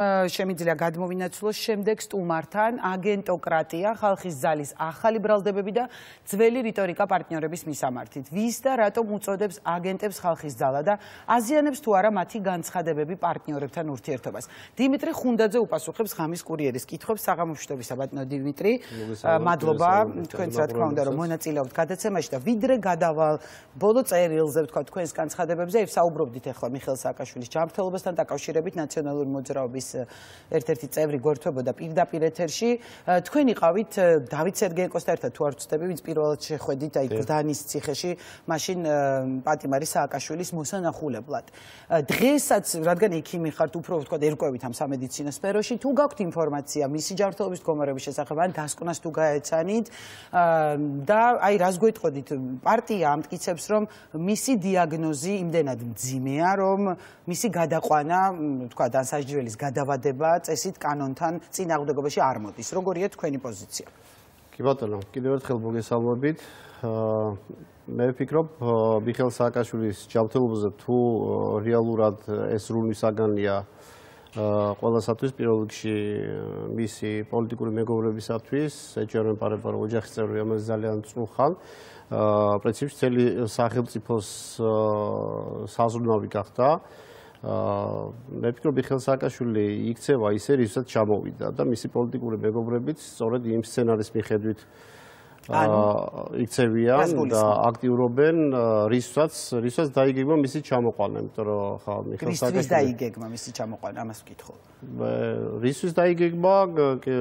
შემიძლია გადმოვინაცვლოს შემდეგ სტუმართან აგენტოკრატია, ხალხის ძალის ახალი ბრალდებები და ძველი რიტორიკა პარტნიორების მისამართით. ვის და რატომ უწოდებს აგენტებს ხალხის ძალა და აზიანებს თუ არა მათი განცხადებები პარტნიორებთან ურთიერთობას. დიმიტრი ხუნდაძე უპასუხებს ღამის კურიერის კითხვებს. საღამოშტობისა ბატონო დიმიტრი, მადლობა თქვენს რა თქმა უნდა რომ მონაწილეობთ გადაცემაში და ვიდრე გადავალ ბოლო წერილზე ვთქვა თქვენს განცხადებებზე, საუბრობდით ახლა მიხეილ სააკაშვილის ჯანმრთელობასთან დაკავშირებით ნაციონალური მოძრაობის ერთ-ერთი წევრი გვერდთვებოდა პირდაპირ ეთერში. თქვენ იყავით დავით სერგეიკოსთან ერთად თუ არ ვცდები, ვინც პირველად შეხვედით აი გდანის ციხეში, მაშინ პატიმარი სააკაშვილის მოსანახულებლად. დღესაც, რადგან ექიმი ხართ, უფრო ვთქვა ერკვევით ამ სამედიცინო სფეროში, თუ გაქვთ ინფორმაცია მისი ჯანმრთელობის მდგომარეობის შესახებ, ან დასკვნას თუ გაეცანით და აი რას გვეტყოდით, პარტია ამტკიცებს, რომ მისი დიაგნოზი იმდენად მძიმეა, რომ მისი გადაყვანა, ვთქვა დასაჯდრელის გადავადება წესით კანონთან წინააღმდეგობაში არ მოდის. როგორია თქვენი პოზიცია? კი ბატონო, კიდევ ერთხელ მოგესალმებით. მე ვფიქრობ, მიხეილ სააკაშვილის ჯანმრთელობაზე თუ რეალურად ეს სრულმისაგანია ყველასათვის, პირველ რიგში მისი პოლიტიკური მეგობრებისათვის, ეჯერემ-პარებარო ოჯახის წევრები, ამაზე ძალიან წუხან. პრინციპში მთელი სახელმწიფოს საზრუნავი გახდა. მე ვფიქრობ, მიხეილ სააკაშვილი იქცევა ისე, რისაც ჩამოვიდა და მისი პოლიტიკური მეგობრებიც სწორედ იმ სცენარის მიხედვით იქცევიან და აქტიურობენ, რისაც დაიგეგმა მისი ჩამოყვანა, იმიტომ რომ ხა მიხეილ სააკაშვილი რისთვის დაიგეგმა მისი ჩამოყვანა, ამას ვკითხო. რისთვის დაიგეგმა,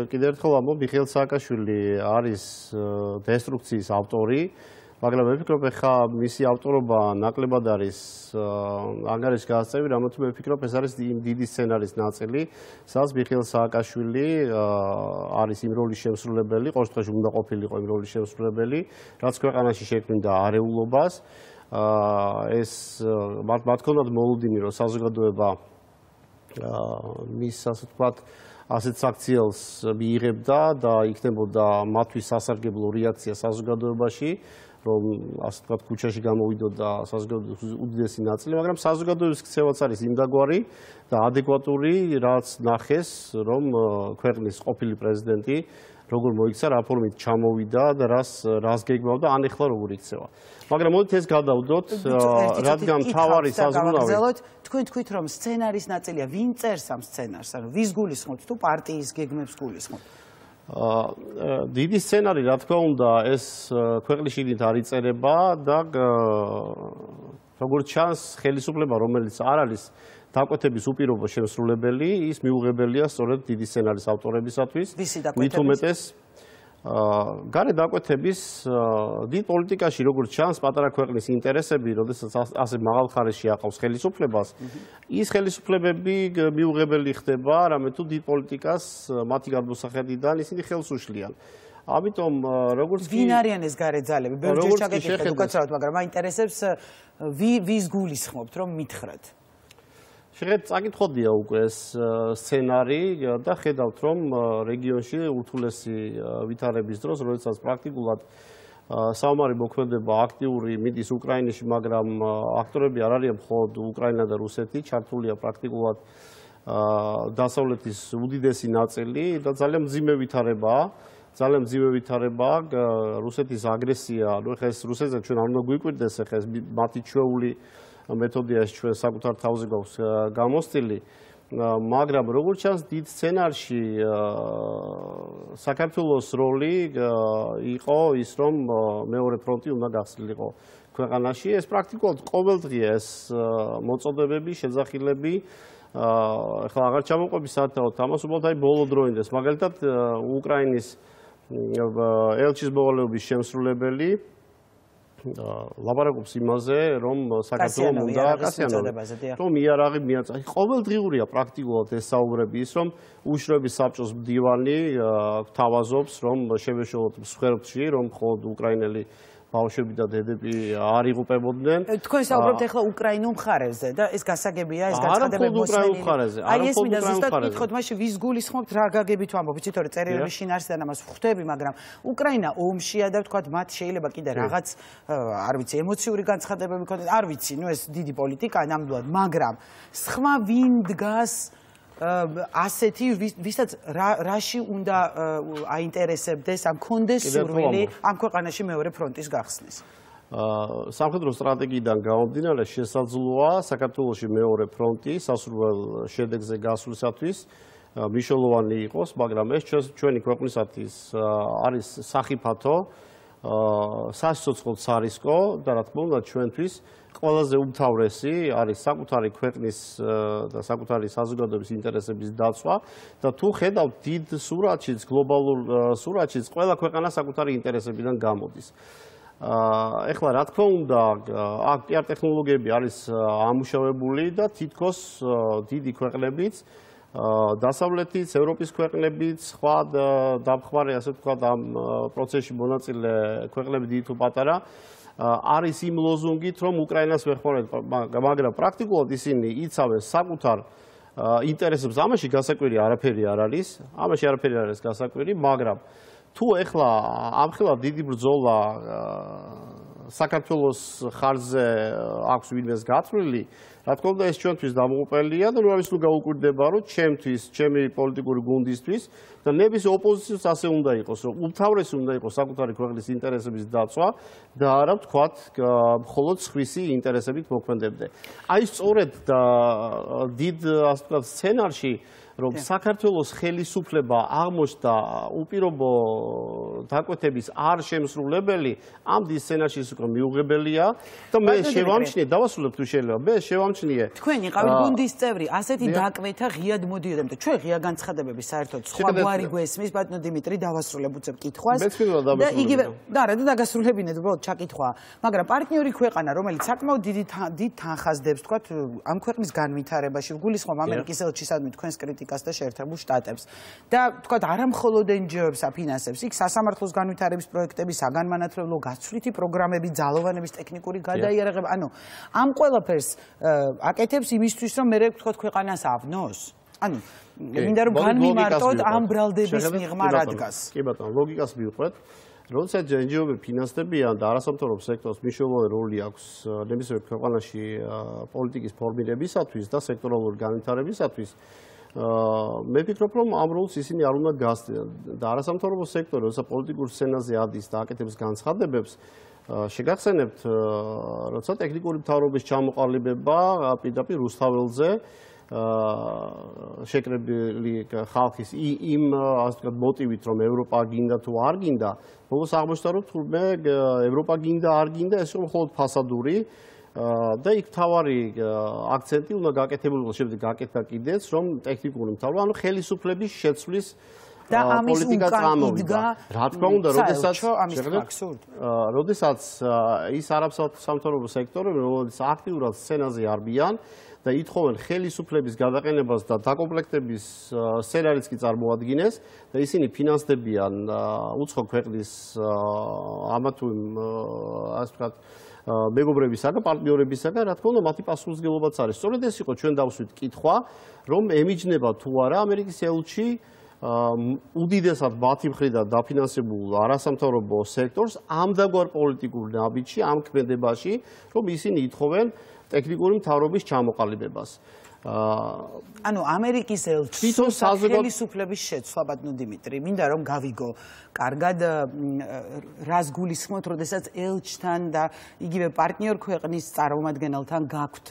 კიდევ ერთხელ ამბობ, მიხეილ სააკაშვილი არის დესტრუქციის ავტორი. მაგრამ მე ვფიქრობ, ხა მისი ავტორობა ნაკლებად არის ანგარიშს გასწევი, რამაც მე ვფიქრობ, ეს არის დიდი სცენარის ნაწილი, სადაც მიხეილ სააკაშვილი არის იმ როლის შემსრულებელი, ყოველ შემთხვევაში უნდა ყოფილიყო იმ როლის შემსრულებელი, რაც ქვეყანაში შექმნიდა არეულობას. ეს მათ ჰქონდათ მოლოდინი, რომ საზოგადოება მის ასე ვთქვათ ასეთ საქციელს მიიღებდა და იქნებოდა მათთვის სასარგებლო რეაქცია საზოგადოებაში, რომ ასე ვთქვათ ქუჩაში გამოვიდოდა საზოგადოების უდიდესი ნაწილი, მაგრამ საზოგადოების ქცევაც არის იმდაგვარი და ადეკვატური, რაც ნახეს, რომ ქვეყნის ყოფილი პრეზიდენტი როგორ მოიქცა, რა ფორმით ჩამოვიდა და რას გეგმავდა, ან ეხლა როგორ იქცევა. მაგრამ მოდით ეს გადავდოთ, რადგან მთავარი საზრუნავი თქვენ თქვით, რომ სცენარის ნაწილია, ვინ წერს ამ სცენარს, ანუ ვის გულისხმობთ თუ პარტიის გეგმებს გულისხმობთ? დიდი სცენარი, რა თქმა უნდა, ეს ქვეყნის შიგნით არ იწერება და როგორც ჩანს, ხელისუფლება, რომელიც არ არის დაკვეთების უპირობო შემსრულებელი, ის მიუღებელია სწორედ დიდი სცენარის ავტორებისათვის. მით უმეტეს გარე დაკვეთების დიდ პოლიტიკაში, როგორც ჩანს, პატარა ქვეყნის ინტერესები, როდესაც ასე მაღალ ხარისხში აყავს ხელისუფლებას, ის ხელისუფლებები მიუღებელი ხდება, რამე თუ დიდ პოლიტიკას მათი გადმოსახედიდან ისინი ხელს უშლიან. ამიტომ როგორც ვინ არიან ეს გარე ძალები? ბევრჯერ ჩაგეკითხეთ უკაცრავად, მაგრამ მაინტერესებს ვის გულისხმობთ, რომ მითხრათ? შეგეთ წაკითხოდია უკვე ეს სცენარი და ხედავთ, რომ რეგიონში ურთულესი ვითარების დროს, როდესაც პრაქტიკულად საომარი მოქმედება აქტიური მიდის უკრაინაში, მაგრამ აქტორები არ არიან მხოლოდ უკრაინა და რუსეთი, ჩართულია პრაქტიკულად დასავლეთის უდიდესი ნაწილი და ძალიან მძიმე ვითარებაა. ძალიან მძიმე ვითარებაა რუსეთის აგრესია, ну ეხლა ეს რუსეთზე ჩვენ არ უნდა გვიკვირდეს, ეხლა ეს მათი ჩვეული მეთოდიაში ჩვენ საკუთარ თავზე გვაქვს გამოსწილი, მაგრამ როგორც ჩანს, დიდ სცენარში საქართველოს როლი იყო ის, რომ მეორე ფრონტი უნდა გახსნილიყო ქვეყანაში. ეს პრაქტიკულად ყოველდღია ეს მოწოდებები, შეძახილები. ეხლა აღარ ჩამოყვები საათაოდ ამას, უბრალოდ აი ბოლო დროინდეს. მაგალითად, უკრაინის ელჩის მოვალეობის შემსრულებელი ლაპარაკობს იმაზე, რომ საქართველოს უნდა რომ იარაღი მიაწოდოს. ყოველდღიურია პრაქტიკულად ეს საუბრები, ის რომ უშროების საბჭოს მდივანი გთავაზობს, რომ შევეშალოთ მსხვერპლში, რომ მხოლოდ უკრაინელი ბავშვები და დედები არ იღუპებოდნენ. თქვენ საუბრობთ ახლა უკრაინულ მხარეზე და ეს გასაგებია, ეს განცხადებები მოსმენილი. აი ეს მინდა ზუსტად ვკითხოთ, მაშინ ვის გულისხმობთ, რა გაგებით ვამბობ, იცით რომ წერილების შინაარსიდან ამას ვხვდები, მაგრამ უკრაინა ომშია და ვთქვათ, მათ შეიძლება კიდე რაღაც, არ ვიცი, ემოციური განცხადებები ქონდეთ, არ ვიცი, ნუ ეს დიდი პოლიტიკაა ნამდვილად, მაგრამ სხვა ვინ დგას ასეთი ვისაც რაში უნდა აინტერესებდეს ან კონდეს სურვილი ამ ქვეყანაში მეორე ფრონტის გახსნის. სამხედრო სტრატეგიიდან გამომდინარე შესაძლოა საქართველოში მეორე ფრონტი სასურველ შედეგზე გასვლისათვის მნიშვნელოვანი იყოს, მაგრამ ეს ჩვენი ქვეყნისათვის არის სახიფათო, სასიცოცხლო სარისკო და რა თქმა უნდა ჩვენთვის ყველაზე უმთავრესი არის საკუთარი ქვეყნის და საკუთარი საზოგადოების ინტერესების დაცვა და თუ ხედავთ დიდ სურათშიც, გლობალურ სურათშიც, ყველა ქვეყანა საკუთარი ინტერესებიდან გამოდის. ეხლა რა თქმა უნდა, აქ პიარ ტექნოლოგიები არის ამუშავებული და თითქოს დიდი ქვეყნებიც დასავლეთის, ევროპის ქვეყნებიც, სხვა დამხმარე, ასე ვთქვათ, ამ პროცესში მონაწილე ქვეყნები დიდი თუ პატარა არის იმ ლოზუნგით, რომ უკრაინას ვეხმარებთ, მაგრამ პრაქტიკულად ისინი იცავენ საკუთარ ინტერესებს. ამაში გასაკვირი არაფერი არ არის, ამაში არაფერი არ არის გასაკვირი, მაგრამ თუ ეხლა ამხელა დიდი ბრძოლა საქართველოს ხარჯზე აქვს ვინმეს გაწვრილი, რა თქმა უნდა ეს ჩვენთვის დამოუკველია და ნუ ამის ნუ გაუკვირდება, რომ ჩემთვის, ჩემი პოლიტიკური გუნდისთვის და ნების ოპოზიციას ასე უნდა იყოს, რომ უმთავრესი უნდა იყოს საკუთარი ქვეყნის ინტერესების დაცვა და არა ვთქვათ, მხოლოდ სხვისი ინტერესებით მოქმედებდე. აი სწორედ დიდ ასე ვთქვათ სცენარში რომ საქართველოს ხელისუფლება აღმოჩნდა უპირობო დაკვეთების არ შემსრულებელი, ამ დიდ სცენარში ის უკვე მიუღებელია და მე შევამჩნიე, დავასრულებ თუ შეიძლება, მე შევამჩნიე. თქვენ იყავით გუნდის წევრი, ასეთი დაკვეთა ღიად მოდიოდა, და ჩვენ ღია განცხადებები საერთოდ სხვა გვარი გვესმის, ბატონო დიმიტრი, დავასრულებ უცებ კითხვას. და იგივე, და რა დაგასრულებინეთ, უბრალოდ ჩაკითხვა, მაგრამ პარტნიორი ქვეყანა, რომელიც საკმაოდ დიდ თანხას დებს, თქვათ, ამ ქვეყნის განვითარებაში, გულისხმობ ამერიკის ელჩისადმი თქვენს კრიტიკას და შეერთებულ შტატებს და თქვათ არა მხოლოდ NGO-ებს აფინანსებს, იქ სასამართლოს განვითარების პროექტები, საგანმანათლებლო გაცვლითი პროგრამები, ძალოვანების ტექნიკური გადაიარაღება, ანუ ამ ყველაფერს აკეთებს იმისთვის, რომ მე ვთქვათ ქვეყანას ავნოს. ანუ მინდა რომ განმიმარტოთ ამ ბრალდების მიღმა რა დგას. კი ბატონო, ლოგიკას მივყვეთ. როდესაც NGO-ები ფინანსდებიან და არასამთავრობო სექტორს მნიშვნელოვანი როლი აქვს ნებისმიერ ქვეყანაში პოლიტიკის ფორმირებისათვის და სექტორალური განვითარებისათვის, მე ვფიქრობ, რომ ამ როლს ისინი არ უნდა გასცენ და არასამთავრობო სექტორი, როცა პოლიტიკურ სცენაზე ადის და აკეთებს განცხადებებს, შეგახსენებთ, როცა ტექნიკური მთავრობის ჩამოყალიბება პირდაპირ რუსთაველზე შეკრებილი ხალხის იმ ასე ვთქვათ მოტივით, რომ ევროპა გინდა თუ არ გინდა, ბოლოს აღმოჩნდა, რომ თურმე ევროპა გინდა არ გინდა, ეს რომ მხოლოდ ფასადური და იქ თავარი აქცენტი უნდა გაკეთებულიყო, შემდეგ გაკეთდა კიდეც, რომ ტექნიკური მთავრობა, ანუ ხელისუფლების შეცვლის და ამის წამოვიდა. რა თქმა უნდა, როდესაც ის არასამთავრობო სექტორები, რომელიც აქტიურად სცენაზე არბიან და ითხოვენ ხელისუფლების გადაყენებას და დაკომპლექტების სცენარიც კი წარმოადგენს და ისინი ფინანსდებიან უცხო ქვეყნის ამა თუ ასე ვთქვათ მეგობრებისაგან, პარტნიორებისაგან, რა თქმა უნდა, მათი პასუხისმგებლობაც არის. სწორედ ეს იყო ჩვენ დავსვით კითხვა, რომ ემიჯნება თუ არა ამერიკის ელჩი უდიდესად მათი მხრიდან დაფინანსებულ არასამთავრობო სექტორს ამდაგვარ პოლიტიკურ ნაბიჯში, ამ ქმედებაში, რომ ისინი ითხოვენ ტექნიკური მთავრობის ჩამოყალიბებას. ანუ ამერიკის ელჩის ხელისუფლების შეცვლა, ბატონო დიმიტრი, მინდა რომ გავიგო კარგად რას გულისხმობთ, როდესაც ელჩთან და იგივე პარტნიორ ქვეყნის წარმომადგენელთან გაქვთ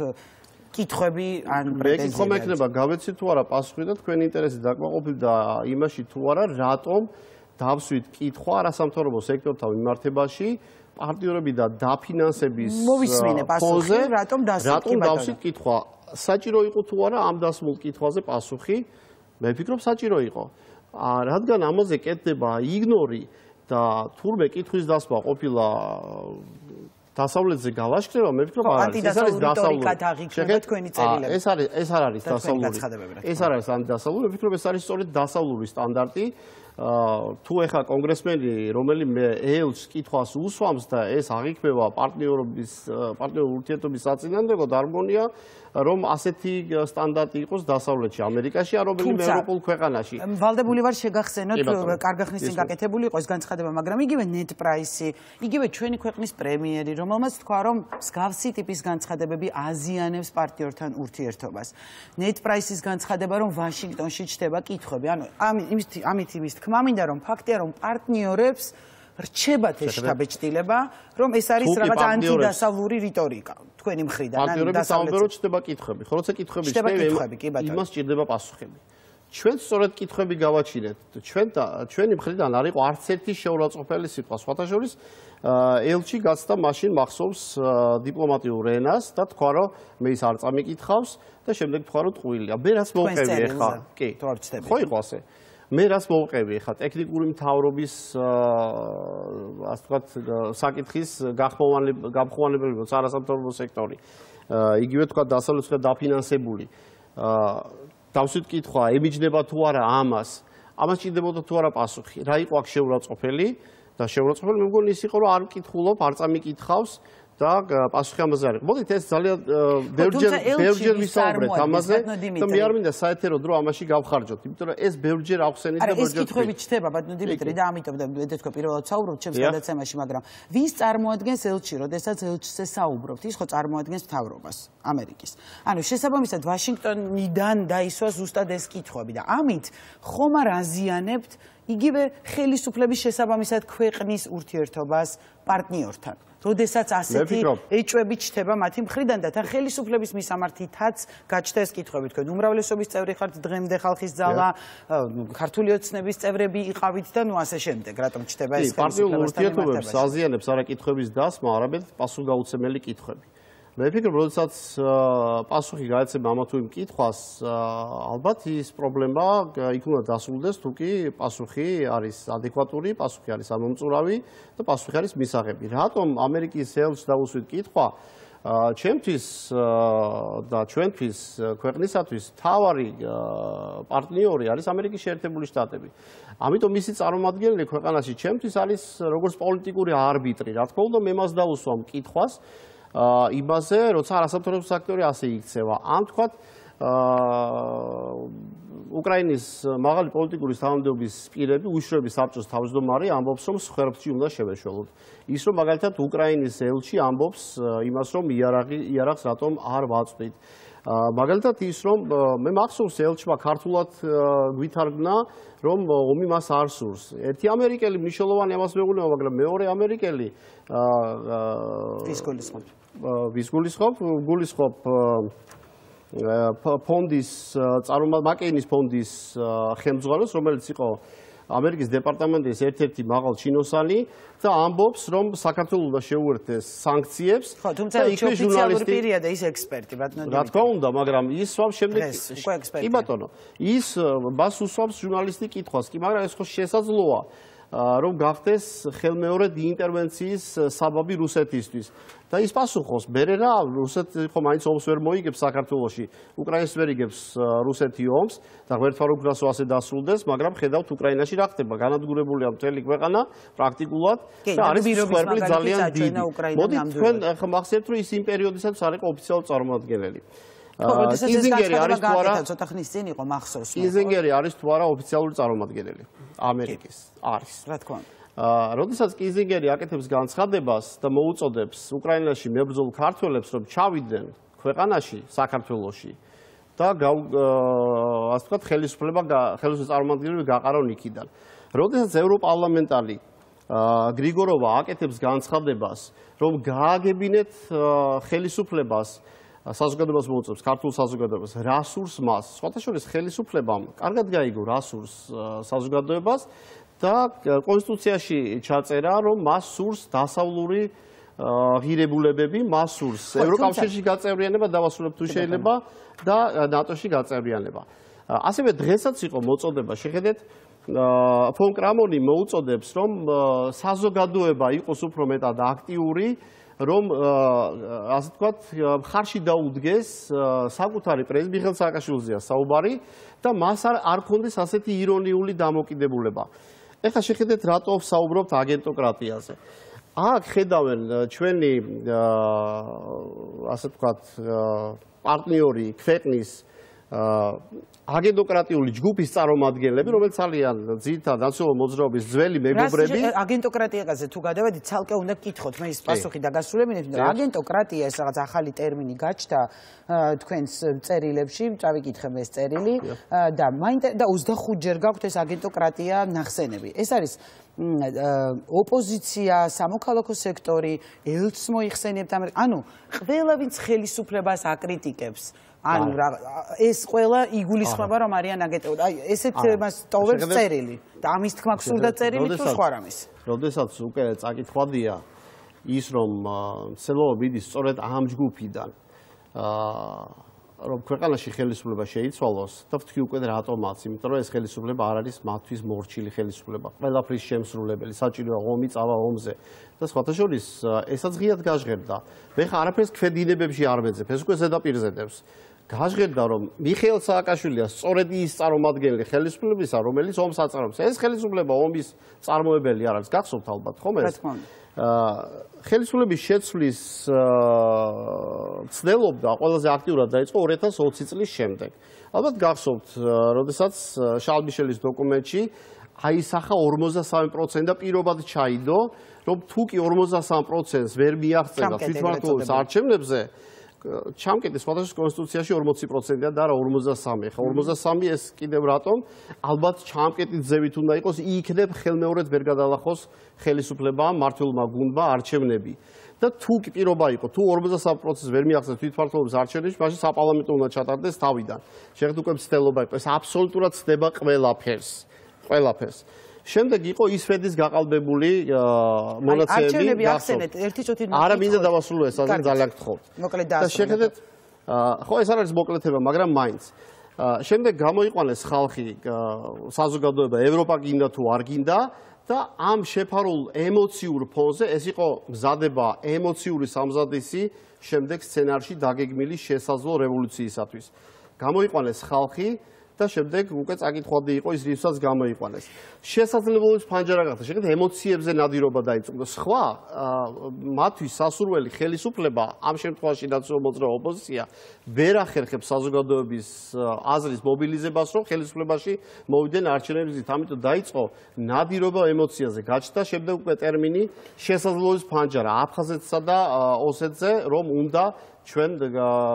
კითხვები ან პრეტენზიები. მე კითხვა მექნება, გავეცით თუ არა პასუხი და თქვენი ინტერესი დაკმაყოფილდა იმაში თუ არა, რატომ დავსვით კითხვა არასამთავრობო სექტორთან მიმართებაში პარტნიორები და დაფინანსების ფონზე, რატომ დავსვით კითხვა. საჭირო იყო თუ არა ამ დასმულ კითხვაზე პასუხი? მე ვფიქრობ საჭირო იყო. რადგან ამაზე კეთდება იგნორი და თურმე კითხვის დასმა ყოფილა დასავლეთზე გალაშქრება, მე ვფიქრობ ეს არის დასავლური. თქვენი წერილები. ეს არ არის დასავლური. ეს არ არის ანტიდასავლური, მე ვფიქრობ ეს არის სწორედ დასავლური სტანდარტი. თუ ეხა კონგრესმენი რომელიმე ელჩს კითხვას უსვამს და ეს აღიქმება პარტნიორ ურთიერთობის საწინააღმდეგოდ, არ მგონია რომ ასეთი სტანდარტი იყოს დასავლეთში, ამერიკაში, ან რომელიმე ევროპულ ქვეყანაში. ვალდებული ვარ შეგახსენოთ, კარგი ხნის წინ გაკეთებული იყო ეს განცხადება, მაგრამ იგივე net price-ი, იგივე ჩვენი ქვეყნის პრემიერი, რომელმაც თქვა, რომ მსგავსი ტიპის განცხადებები აზიანებს პარტნიორთან ურთიერთობას. net price-ის განცხადება, რომ ვაშინგტონში ჩდება კითხვები, ანუ ამით იმის თქმა მინდა, რომ ფაქტია, რომ პარტნიორებს რჩებათ ეს შთაბეჭდილება, რომ ეს არის რაღაც ანტიდასავლური რიტორიკა თქვენი მხრიდან. პარტნიორებს საუბრო ჩდება კითხვები, ხო, როცა კითხვები ჩდება, იმას ჭირდება პასუხები. ჩვენ სწორედ კითხვები გავაჩინეთ. ჩვენი მხრიდან არ იყო არც ერთი შეურაცხყოფელი სიტყვა. სხვათა შორის ელჩი გაცდა მაშინ მახსოვს დიპლომატიურ ენას და თქვა, რომ მე ის არ წამიკითხავს და შემდეგ თქვა, რომ ტყუილია. მე რაც მოვყევი ახლა, კი, ხო იყო ასე. მე რაც მოვყევი ახლა ტექნიკური მთავრობის ასე ვთქვათ საკითხის გამხმოვანებელი არასამთავრობო სექტორი. იგივე თქვა დასავლეთ დაფინანსებული. დავსვით კითხვა, ემიჯნება თუ არა ამას ჭირდებოდა თუ არა პასუხი. რა იყო აქ შეურაცხყოფელი და შეურაცხყოფელი მე მგონი ის იყო, რომ არ მკითხულობ, არ წამიკითხავს და პასუხი ამაზე არ იყო. მოდით ეს ძალიან ბევრჯერ ვისაუბრეთ ამაზე და მე არ მინდა საერთო დრო ამაში გავხარჯოთ, იმიტომ რომ ეს ბევრჯერ აღხსენით და ბევრჯერ ეს კითხვები ჩდება ბატონო დიმიტრი და ამიტომ და მე თქვა პირველად საუბრობთ ჩემს გადაცემაში, მაგრამ ვის წარმოადგენს ელჩი, როდესაც ელჩზე საუბრობთ? ის ხო წარმოადგენს მთავრობას ამერიკის. ანუ შესაბამისად ვაშინგტონიდან დაისვა ზუსტად ეს კითხვები და ამით ხომ არ აზიანებთ იგივე ხელისუფლების შესაბამისად ქვეყნის ურთიერთობას პარტნიორთან. როდესაც ასეთი ეჭვები ჩდება მათი მხრიდან და თან ხელისუფლების მისამართითაც გაჩნდა ეს კითხვები. თქვენ უმრავლესობის წევრი ხართ დღემდე ხალხის ძალა, ქართული ოცნების წევრები იყავით და ნუ ასე შემდეგ. რატომ ჩდება ეს პარტიულ ურთიერთობებს აზიანებს არა კითხვების დასმა, არამედ პასუხგაუცემელი კითხვები. მე ვფიქრობ, როდესაც პასუხი გაეცემა ამა თუ იმ კითხვას, ალბათ ის პრობლემა იქ უნდა დასრულდეს, თუ კი პასუხი არის ადეკვატური, პასუხი არის ამომწურავი და პასუხი არის მისაღები. რატომ ამერიკის ელჩს დაუსვით კითხვა, ჩემთვის და ჩვენთვის ქვეყნისათვის მთავარი პარტნიორი არის ამერიკის შეერთებული შტატები. ამიტომ მისი წარმომადგენელი ქვეყანაში ჩემთვის არის როგორც პოლიტიკური არბიტრი. რა თქმა უნდა, მე მას დაუსვამ კითხვას იმაზე, როცა არასამთავრობო სექტორი ასე იქცევა. ან თქვათ უკრაინის მაღალი პოლიტიკური თანამდებობის პირები, უშუალოდ საბჭოს თავმჯდომარე ამბობს, რომ სხერფში უნდა შევეშველოთ. ის რომ მაგალითად უკრაინის ელჩი ამბობს იმას, რომ იარაღს რატომ არ ვაწვდით. მაგალითად ის რომ მე მახსოვს ელჩმა ქართულად გვითარგმნა, რომ ომი მას არ სურს. ერთი ამერიკელი მნიშვნელოვანი ამას მეუღლება, მაგრამ მეორე ამერიკელი გულისხმობ ფონდის მაკეინის ფონდის ხელმძღვანელს, რომელიც იყო ამერიკის დეპარტამენტის ერთ-ერთი მაღალ ჩინოსანი და ამბობს, რომ საქართველოს უნდა შეუერთდეს სანქციებს. ხო, თუმცა ის ოფიციალური პირია და ის ექსპერტი, ბატონო დიმიტრი. რა თქმა უნდა, მაგრამ ის სვამს შემდეგ კი ბატონო, ის მას უსვამს ჟურნალისტი კითხვას, კი, მაგრამ ეს ხო შესაძლოა. რომ გახდეს ხელმეორედ ინტერვენციის საბაბი რუსეთისთვის. და ის პასუხობს, მერე რა, რუსეთი ხო მაინც ომს ვერ მოიგებს საქართველოში, უკრაინას ვერ იგებს რუსეთი ომს და ღმერთმა რო გრასო ასე დასრულდეს, მაგრამ ხედავთ უკრაინაში რა ხდება, განადგურებულია მთელი ქვეყანა პრაქტიკულად და არის სხერბლი ძალიან დიდი. მოდით თქვენ ახლა მახსენებთ, რომ ის იმ პერიოდისაც არ იყო ოფიციალური წარმომადგენელი. კიზინგერი არის თუ არა ცოტა ხნის წინ იყო მახსოვს. კიზინგერი არის თუ არა ოფიციალური წარმომადგენელი ამერიკის? არის. რა თქმა უნდა. როდესაც კიზინგერი აკეთებს განცხადებას და მოუწოდებს უკრაინაში მებრძოლ ქართველებს, რომ ჩავიდნენ ქვეყანაში, საქართველოში და ასე ვთქვათ, ხელისუფლების წარმომადგენლები გაყარონ იქიდან. როდესაც ევროპარლამენტარი გრიგოროვა აკეთებს განცხადებას, რომ გააგებინეთ ხელისუფლებას საზოგადოებას მოუწევს, ქართულ საზოგადოებას, რა სურს მას. სხვათა შორის ხელისუფლებამ კარგად გაიგო რა სურს საზოგადოებას და კონსტიტუციაში ჩაწერა, რომ მას სურს დასავლური ღირებულებები, მას სურს ევროკავშირში გაწევრიანება, დავასრულებ თუ შეიძლება და ნატოში გაწევრიანება. ასევე დღესაც იყო მოწოდება, შეხედეთ, ფონ კრამონი მოუწოდებს, რომ საზოგადოება იყოს უფრო მეტად აქტიური, რომ ასე ვთქვათ, მხარში დაუდგეს საკუთარი პრეზიდენტ მიხეილ სააკაშვილზეა საუბარი და მას არ ქონდეს ასეთი ირონიული დამოკიდებულება. ეხლა შეხედეთ, რატო საუბრობთ აგენტოკრატიაზე. აქ ხედავენ ჩვენი ასე ვთქვათ, პარტნიორი ქვეყნის აგენტოკრატიული ჯგუფის წარმომადგენლები, რომელიც ძალიან ძირითადად ნაციონალური მოძრაობის ძველი მეგობრები. აგენტოკრატიაზე თუ გადავედით, ცალკე უნდა გკითხოთ, მე ის პასუხი დაგასრულებინებ, რომ აგენტოკრატია ეს რაღაც ახალი ტერმინი გაჩნდა თქვენს წერილებში, წავიკითხე მე ეს წერილი და 25 ჯერ გაქვთ ეს აგენტოკრატია ნახსენები. ეს არის ოპოზიცია, სამოქალაქო სექტორი, ელჩს მოიხსენიებთ, ანუ ყველა ვინც ხელისუფლებას აკრიტიკებს. ანუ ეს ყველა იგულისხმება რომ არიან აგენტები. აი ესეთ მას ტოვებს წერილი და ამის თქმა გსურდა წერილი თუ სხვა რამის. როდესაც უკვე წაკითხვადია ის რომ ცელობა მიდის სწორედ ამ ჯგუფიდან რომ ქვეყანაში ხელისუფლება შეიცვალოს და ვთქვი უკვე რატომაც, იმიტომ რომ ეს ხელისუფლება არ არის მათთვის მორჩილი ხელისუფლება. ყველაფრის შემსრულებელი, საჭიროა ომი წავა ომზე და სხვათა შორის ესაც ღიად გაჟღერდა. მე ხა არაფერს ქვედინებებში არ მეძებ, ეს უკვე ზედაპირზე დევს. გაჟღერდა რომ მიხეილ სააკაშვილია სწორედ ის წარმომადგენელი ხელისუფლებისა, რომელიც ომს აწარმოებს. ეს ხელისუფლება ომის წარმოებელი არ არის, გახსოვთ ალბათ, ხომ ეს? ხელისუფლების შეცვლის ცდილობდა ყველაზე აქტიურად დაიწყო 2020 წლის შემდეგ. ალბათ გახსოვთ, როდესაც შარლ მიშელის დოკუმენტში აისახა 53% და პირობად ჩაიდო, რომ თუ კი 53%-ს ვერ მიაღწევა თვითმმართველობის არჩევნებზე, ჩამკეტეს სხვადასხვა კონსტიტუციაში 40%-ია და არა 43. ხა 43 ეს კიდევ რატომ? ალბათ ჩამკეტის ზევით უნდა იყოს, იქნებ ხელმეორედ ვერ გადალახოს ხელისუფლებამ, მმართველმა გუნდმა არჩევნები. და თუ კი პირობა იყო, თუ 43%-ს ვერ მიაღწევს თვითმმართველობის არჩევნებში, მაშინ საპარლამენტო უნდა ჩატარდეს თავიდან. შეხედეთ უკვე მცდელობა იყო, ეს აბსოლუტურად ცდება ყველაფერს. შემდეგ იყო ისფედის გაყალბებული მონაცემები. არჩევნები ახსენეთ, ერთი წუთით არა მინდა დავასრულო ეს, ასე ძალიან გთხოვთ. მოკლედ და შეხედეთ, ხო ეს არ არის მოკლეთება, მაგრამ მაინც. შემდეგ გამოიყვანეს ხალხი, საზოგადოება, ევროპა გინდა თუ არ გინდა და ამ შეფარულ ემოციურ ფონზე ეს იყო მზადება ემოციური სამზადისი შემდეგ სცენარში დაგეგმილი შესაძლო რევოლუციისათვის. გამოიყვანეს ხალხი და შემდეგ უკვე წაკითხვადი იყო ის რისაც გამოიყვანეს. შესაძლებლობის ფანჯარა გახდა. შეხედეთ, ემოციებზე ნადირობა დაიწყო და სხვა მათთვის სასურველი ხელისუფლება, ამ შემთხვევაში ნაციონალური მოძრაობა ოპოზიცია, ვერ ახერხებს საზოგადოების აზრის მობილიზებას, რომ ხელისუფლებაში მოვიდნენ არჩევნების გზით. ამიტომ დაიწყო ნადირობა ემოციაზე. გაჩნდა შემდეგ უკვე ტერმინი შესაძლებლობის ფანჯარა აფხაზეთსა და ოსეთზე, რომ უნდა ჩვენ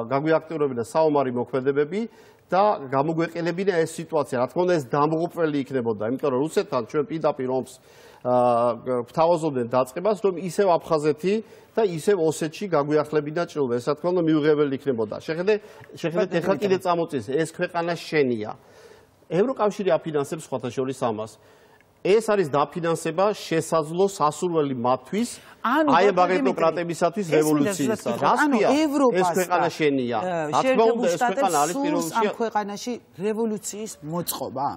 გაგვიაქტიურებინა საომარი მოქმედებები და გამოგვეყელებინა ეს სიტუაცია. რა თქმა უნდა, ეს დამღუპველი იქნებოდა, იმიტომ რომ რუსეთთან ჩვენ პირდაპირ ომს ვთავაზობდნენ დაწყებას, რომ ისევ აფხაზეთი და ისევ ოსეთში გაგვიახლებინა ჭრილობა. ეს რა თქმა უნდა მიუღებელი იქნებოდა. შეხედეთ, ეხლა კიდე წამოწეს, ეს ქვეყანა შენია. ევროკავშირი აფინანსებს სხვათა შორის ამას. ეს არის დაფინანსება შესაძლო სასურველი მათთვის, აი ამ აგენტოკრატებისათვის რევოლუციისა. რასია? ეს ქვეყანა შენია. რა თქმა უნდა, ეს ქვეყანა არის პირველში ამ ქვეყანაში რევოლუციის მოწყობა.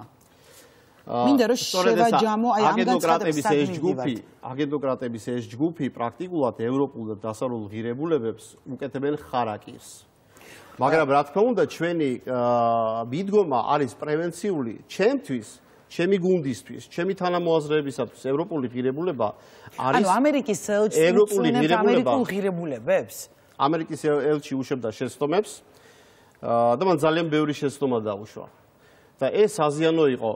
მინდა რომ შევაჯამო აი ამ აგენტოკრატების ეს ჯგუფი პრაქტიკულად ევროპულ და დასავლურ ღირებულებებს უკეთებენ ხარაკირს. მაგრამ რა თქმა უნდა, ჩვენი მიდგომა არის პრევენციული ჩემთვის, ჩემი გუნდისთვის, ჩემი თანამოაზრეებისათვის ევროპული ღირებულება არის ანუ ამერიკის ელჩი უწვენებს ამერიკულ ღირებულებებს. ამერიკის ელჩი უშვებდა შეცდომებს და მან ძალიან ბევრი შეცდომა დაუშვა. და ეს აზიანო იყო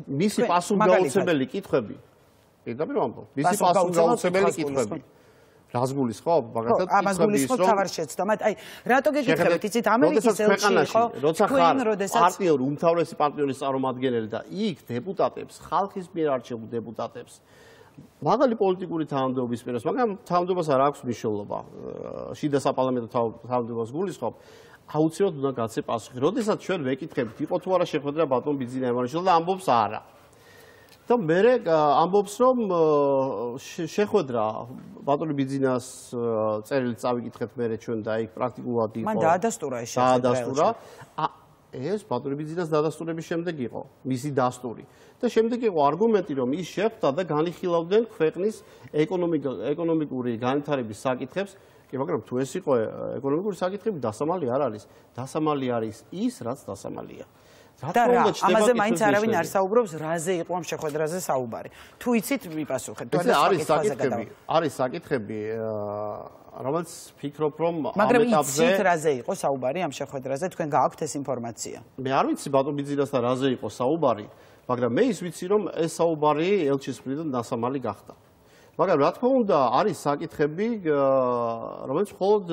მისი პასუხგაუცემელი კითხვები. პირდაპირ ვამბობ, მისი პასუხგაუცემელი კითხვები. რას გულისხმობ? მაგალითად, ამას გულისხმობ თავარ შეცდომად. აი, რატო გეკითხებით, იცით, ამერიკის ელჩი იყო, როცა ხარ პარტნიორი, უმთავრესი პარტნიორის წარმომადგენელი და იქ დეპუტატებს, ხალხის მიერ არჩეულ დეპუტატებს, მაღალი პოლიტიკური თანამდებობის პირას, მაგრამ თანამდებობას არ აქვს მნიშვნელობა. შიდა საპარლამენტო თანამდებობას გულისხმობ. აუცილებლად უნდა გაცე პასუხი. როდესაც ჩვენ ვეკითხებით, იყო თუ არა შეხვედრა ბატონ ბიძინა ემანიშვილთან და ამბობს არა. და მე ამბობს რომ შეხვედრა ბატონი ბიძინას წერილს წავიკითხეთ მე ჩვენ და იქ პრაქტიკულად იყო. მან დაადასტურა ეს შეხვედრა. დაადასტურა. ეს ბატონი ბიძინას დადასტურების შემდეგ იყო მისი დასტური. და შემდეგ იყო არგუმენტი რომ ის შეხვდა და განიხილავდნენ ქვეყნის ეკონომიკური განვითარების საკითხებს. კი, მაგრამ თუ ეს იყო ეკონომიკური საკითხები, დასამალი არ არის. დასამალი არის ის, რაც დასამალია. და რა, ამაზე მაინც არავინ არ საუბრობს, რაზე იყო ამ შეხვედრაზე საუბარი. თუ იცით, მიპასუხეთ. არის საკითხები, რომელიც ფიქრობ, რომ მაგრამ იცით რაზე იყო საუბარი ამ შეხვედრაზე, თქვენ გააქვთ ეს ინფორმაცია? მე არ ვიცი ბატონ ბიძინასთან რაზე იყო საუბარი, მაგრამ მე ის ვიცი, რომ ეს საუბარი ელჩის მხრიდან დასამალი გახდა. მაგრამ რა თქმა უნდა, არის საკითხები, რომელიც მხოლოდ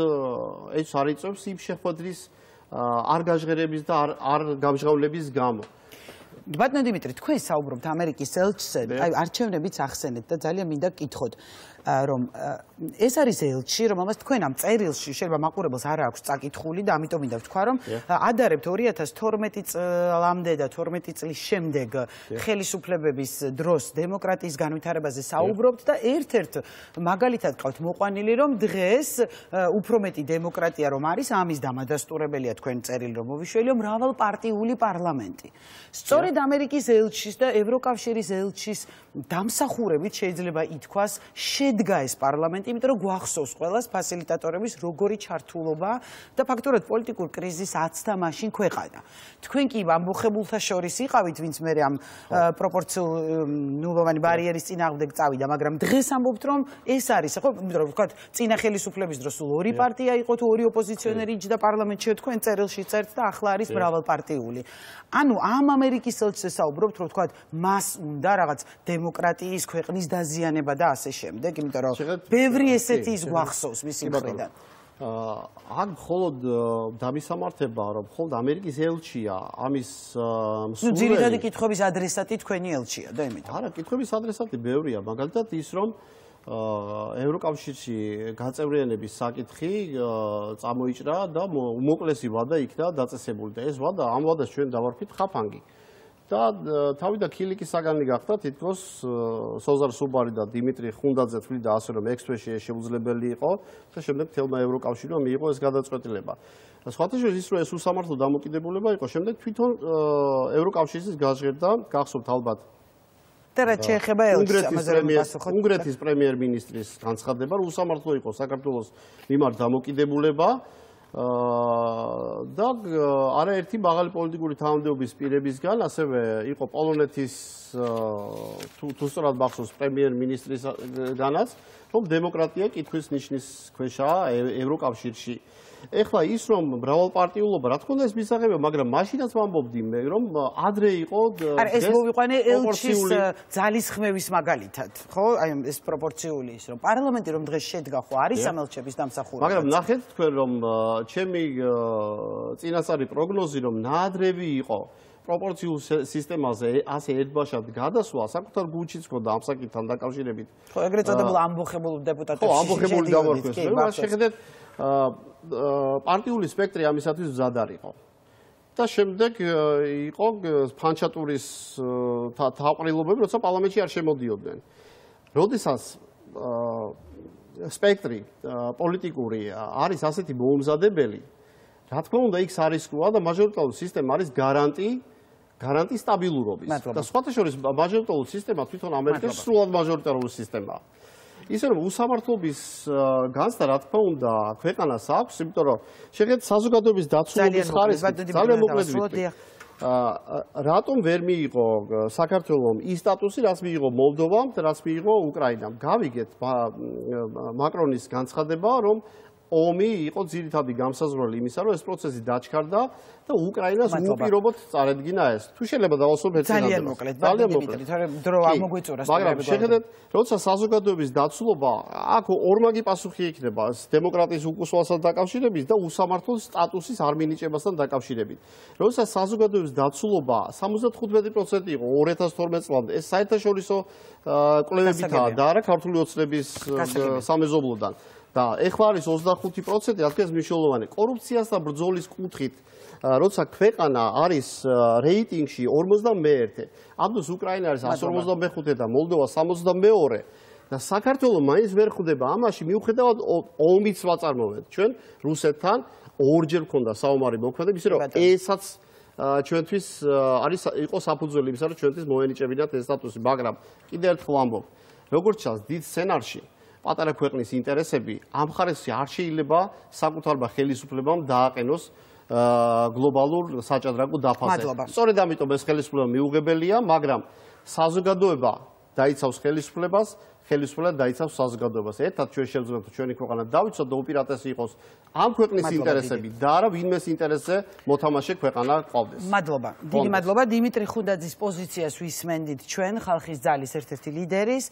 ეს არ იწევს იმ შეხვედრის არ გაჟღერების და არ გამჟღავნების გამო. ბატონო დიმიტრი, თქვენ საუბრობთ ამერიკის ელჩზე, აი არჩევნებიც ახსენეთ და ძალიან მინდა გკითხოთ, რომ ეს არის ელჩი, რომელმაც თქვენ ამ წერილში შეიძლება მაყურებელს არ აქვს წაკითხული და ამიტომ მინდა ვთქვა, რომ ადარებთ 2012 წლამდე და 12 წლის შემდეგ ხელისუფლებების დროს დემოკრატიის განვითარებაზე საუბრობთ და ერთ-ერთ მაგალითად ყავთ მოყვანილი, რომ დღეს უფრო მეტი დემოკრატია რომ არის, ამის დამადასტურებელია თქვენ წერილი რომ მოვიშველიო მრავალპარტიული პარლამენტი. სწორედ ამერიკის ელჩის და ევროკავშირის ელჩის დამსახურებით შეიძლება ითქვას შედგა ეს პარლამენტი, იმიტომ რომ გვახსოვს ყველას ფასილიტატორების როგორი ჩართულობა და ფაქტურად პოლიტიკურ კრიზისს აცდა მაშინ ქვეყანა. თქვენ კი ამბოხებულთა შორის იყავით, ვინც მე ამ პროპორციულოვანი ბარიერის წინააღმდეგ წავიდა, მაგრამ დღეს ამბობთ, რომ ეს არის, ხო, იმიტომ რომ ვთქვათ, წინა ხელისუფლების დროს სულ ორი პარტია იყო, თუ ორი ოპოზიციონერი იჯდა პარლამენტში, თქვენ წერილში წერთ და ახლა არის მრავალპარტიული. ანუ ამ ამერიკის ელჩზე საუბრობთ, რომ ვთქვათ, მას უნდა რაღაც დემოკრატიის ქვეყნის დაზიანება და ასე შემდეგ, იმიტომ რომ ბევრი ესეთი ის გვახსოვს მისი მხრიდან. აქ მხოლოდ დამისამართება, რომ მხოლოდ ამერიკის ელჩია ამის მსურველი. ძირითადი კითხვების ადრესატი თქვენი ელჩია და იმიტომ. არა, კითხვების ადრესატი ბევრია, მაგალითად ის, რომ ევროკავშირში გაწევრიანების საკითხი წამოიჭრა და უმოკლესი ვადა იქნა დაწესებული და ეს ვადა ამ ვადას ჩვენ დავარქვით ხაფანგი. და თავი და ქილიკის საგანი გახდა თითქოს სოზარ სუბარი და დიმიტრი ხუნდაძე თვლიდა ასე რომ ექსპრესში შეუძლებელი იყო და შემდეგ თელმა ევროკავშირმა მიიღო ეს გადაწყვეტილება. სხვათა შორის ის რომ ეს უსამართლო დამოკიდებულება იყო, შემდეგ თვითონ ევროკავშირის გაჟღერდა, გახსოვთ ალბათ და რაც შეეხება ელჩს, ამაზე რომ პასუხობთ. უნგრეთის პრემიერ-მინისტრის განცხადება, რომ უსამართლო იყო საქართველოს მიმართ დამოკიდებულება და არაერთი მაღალი პოლიტიკური თანამდებობის პირებისგან, ასევე იყო პოლონეთის თუ სწორად მახსოვს პრემიერ-მინისტრისგანაც, რომ დემოკრატია კითხვის ნიშნის ქვეშაა ევროკავშირში. ეხლა ის რომ მრავალპარტიულობა, რა თქმა უნდა ეს მისაღებია, მაგრამ მაშინაც ვამბობდი მე, რომ ადრე იყო არა ეს მოვიყვანე ელჩის ძალისხმევის მაგალითად, ხო? აი ეს პროპორციული ის რომ პარლამენტი რომ დღეს შედგა, ხო არის ამ ელჩების დამსახურება. მაგრამ ნახეთ თქვენ რომ ჩემი წინასწარი პროგნოზი რომ ნაადრევი იყო პროპორციულ სისტემაზე ასე ერთბაშად გადასვლა საკუთარ გულშიც მქონდა ამ საკითხთან დაკავშირებით. ხო, ეგრეთ წოდებულ ამბოხებულ დეპუტატებში. ხო, ამბოხებული დავარქვეს. მე შეხედეთ პარტიული სპექტრი ამისათვის მზად არ იყო. და შემდეგ იყო ფანჩატურის თავყრილობები, როცა პარლამენტში არ შემოდიოდნენ. როდესაც სპექტრი პოლიტიკური არის ასეთი მოუმზადებელი, რა თქმა უნდა, იქ არისკოა და მაჟორიტარული სისტემა არის გარანტი სტაბილურობის. და სხვათა შორის მაჟორიტარული სისტემა თვითონ ამერიკაში სრულად მაჟორიტარული სისტემაა. ისე რომ უსამართლობის განცდა რა თქმა უნდა ქვეყანას აქვს, იმიტომ რომ შეხედეთ საზოგადოების დაცულობის ხარისხი ძალიან მოკლედ ვიტყვი. რატომ ვერ მიიღო საქართველომ ის სტატუსი, რაც მიიღო მოლდოვამ და რაც მიიღო უკრაინამ? გავიგეთ მაკრონის განცხადება, რომ ომი იყო ძირითადი გამსაზღვრელი იმისა, რომ ეს პროცესი დაჩქარდა და უკრაინას უპირობოდ წარედგინა ეს. თუ შეიძლება დავასრულებ ერთ სიტყვაში. ძალიან მოკლედ, დიმიტრი, თორემ დრო ამოგვიწურა. მაგრამ შეხედეთ, როცა საზოგადოების დაცულობა, აქ ორმაგი პასუხი იქნება დემოკრატიის უკუსვასთან დაკავშირებით და უსამართლო სტატუსის არ მინიჭებასთან დაკავშირებით. როცა საზოგადოების დაცულობა 75% იყო 2012 წლამდე, ეს საერთაშორისო კვლევებითაა და არა ქართული ოცნების სამეზობლოდან. და ეხლა არის 25%, რადგან მნიშვნელოვანი კორუფციას და ბრძოლის კუთხით, როცა ქვეყანა არის რეიტინგში 51, ამ დროს უკრაინა არის 155 და მოლდოვა 62 და საქართველოს მაინც ვერ ხვდება ამაში, მიუხედავად ომის ვაწარმოებთ ჩვენ რუსეთთან ორჯერ ქონდა საომარი მოქმედება, ისე რომ ესაც ჩვენთვის არის იყო საფუძველი იმისა, რომ ჩვენთვის მოენიჭებინათ ეს სტატუსი, მაგრამ კიდევ ერთხელ ვამბობ, როგორც ჩანს დიდ სცენარში პატარა ქვეყნის ინტერესები ამ ხარისხში არ შეიძლება საკუთარმა ხელისუფლებამ დააყენოს გლობალურ საჭადრაკო დაფაზე. სწორედ ამიტომ ეს ხელისუფლება მიუღებელია, მაგრამ საზოგადოება დაიცავს ხელისუფლებას, ხელისუფლება დაიცავს საზოგადოებას. ერთად ჩვენ შევძლებთ ჩვენი ქვეყანა დავიცოთ და უპირატესი იყოს ამ ქვეყნის ინტერესები და არა ვინმეს ინტერესზე მოთამაშე ქვეყანა ყავდეს. მადლობა. დიდი მადლობა დიმიტრი ხუნდაძის პოზიციას ვისმენდით ჩვენ ხალხის ძალის ერთ-ერთი ლიდერის.